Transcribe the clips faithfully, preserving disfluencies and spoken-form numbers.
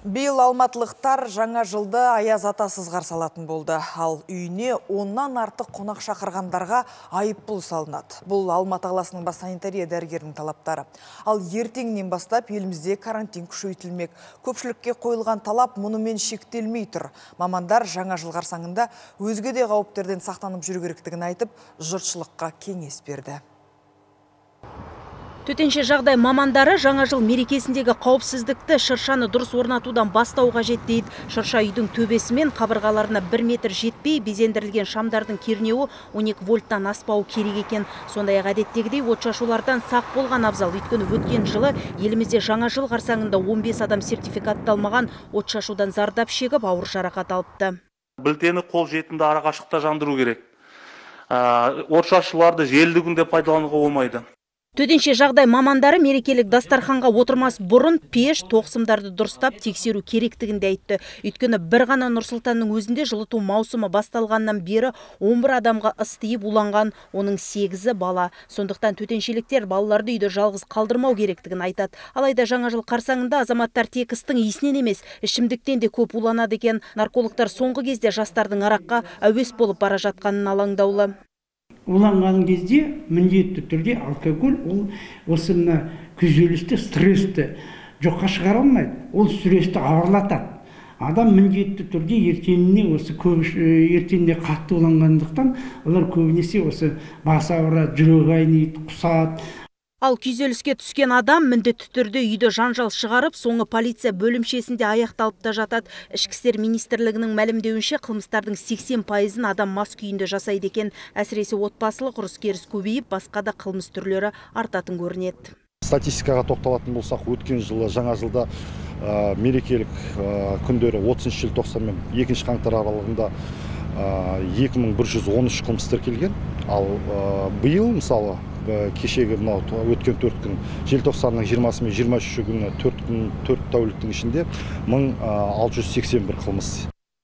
Биыл алматылықтар жаңа жылды аяз атасыз қарсы алатын болды. Ал үйіне оннан артық қонақ шақырғандарға айыппұл салынады. Бұл Алматы қаласының бас санитария дәрігерінің талаптары. Ал ертеңнен бастап елімізде карантин күшейтілмек. Көпшілікке қойылған талап мұнымен шектелмей тұр. Мамандар жаңа жыл қарсаңында өзге де қауіптерден сақтанып жүру керектігін айтып, жұртшылыққа кеңес берді. Төтенше жағдай мамандары жаңа жыл мерекесіндегі қауіпсіздікті шыршаны дұрыс орнатудан бастау қажет дейді. Шырша үйдің төбесі мен қабырғаларына бір метр жетпей, безендірілген шамдардың кернеуі он екі вольттан аспауы керек екен. Сондай-ақ әдеттегідей отшашулардан сақ болған абзал. Өйткені өткен жылы елімізде жаңа жыл қарсаңында он бес адам сертификатталмаған отшашудан зардап шегіп ауыр жарақат алыпты. Білтені қол жетімді арақашықта жандыру керек. Отшашуларды желді күнде пайдалануға болмайды. Төтенше жағдай мамандары мерекелік дастарханға отырмас бұрын пеш, тоқсымдарды дұрыстап тексеру керектігінде айтты. Өйткені бір ғана Нұр-Сұлтанның өзінде жылыту маусымы басталғаннан бері он бір адамға ыс тиіп уланған, оның сегізі бала. Сондықтан төтеншеліктер балаларды үйде жалғыз қалдырмау керектігін айтады. Алайда жаңа жыл қарсаңында азаматтар тек істің иісінен емес, ішімдіктен де көп уланады екен. Наркологтар соңғы кезде жастардың араққа әуес болып бара жатқанын алаңдаулы. Уланған кезде міндетті түрде алкоголь ол осы мына күйзелісті, стрессті жоққа шығара алмайды. Ол стрессті ауырлатады. Адам міндетті түрде ертеңіне осы көп ертеңіне қатты уланғандықтан олар көбінесе осы бас ауырады, жүрегі айниды, құсады. Ал күйзеліске түскен адам міндетті түрде үйді жанжал шығарып, соңы полиция бөлімшесінде аяқталып та жатады. Ішкі істер министрлігінің мәлімдеуінше қылмыстардың сексен пайызын адам мас күйінде жасайды екен. Әсіресе отбасылық ұрыс-керіс көбейіп, басқа да қылмыс түрлері артатын көрінеді. Статистикаға тоқталатын болсақ, өткен жылы жаңа жылда ә, мерекелік ә, күндері отызыншы желтоқсан мен екінші қаңтар аралығында екі мың бір жүз он үш қылмыс тіркелген. Ал ә, биыл мысалы кешегі мынау өткен төрт күн желтоқсанның жиырмасы мен жиырма үші күні төрт күн төрт тәуліктің ішінде мың алты жүз сексен бір қылмыс.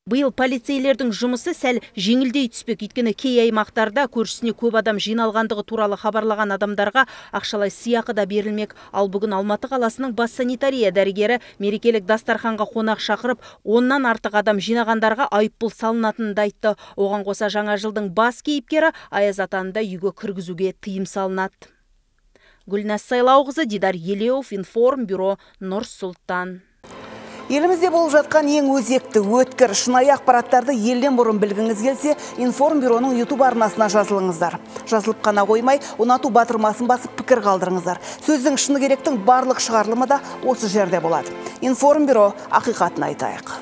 Биыл полицейлердің жұмысы сәл жеңілдей түспек. Өйткені кей аймақтарда көршісіне көп адам жиналғандығы туралы хабарлаған адамдарға ақшалай сыйақы да берілмек. Ал бүгін Алматы қаласының бас санитария дәрігері мерекелік дастарханға қонақ шақырып, оннан артық адам жинағандарға айыппұл салынатынын да айтты. Оған қоса жаңа жылдың бас кейіпкері Аяз атаны да үйге кіргізуге тыйым салынады. Гүлназ Сайлауқызы, Дидар Елеуов, Информбюро, Нұр-Сұлтан. Елімізде болып жатқан ең өзекті, өткір, шынайы ақпараттарды елден бұрын білгіңіз келсе, Информбюроның YouTube арнасына жазылыңыздар. Жазылып қана қоймай, ұнату батырмасын басып пікір қалдырыңыздар. Сөздің шыны керектің барлық шығарылымы да осы жерде болады. Информбюро, ақиқатын айтайық.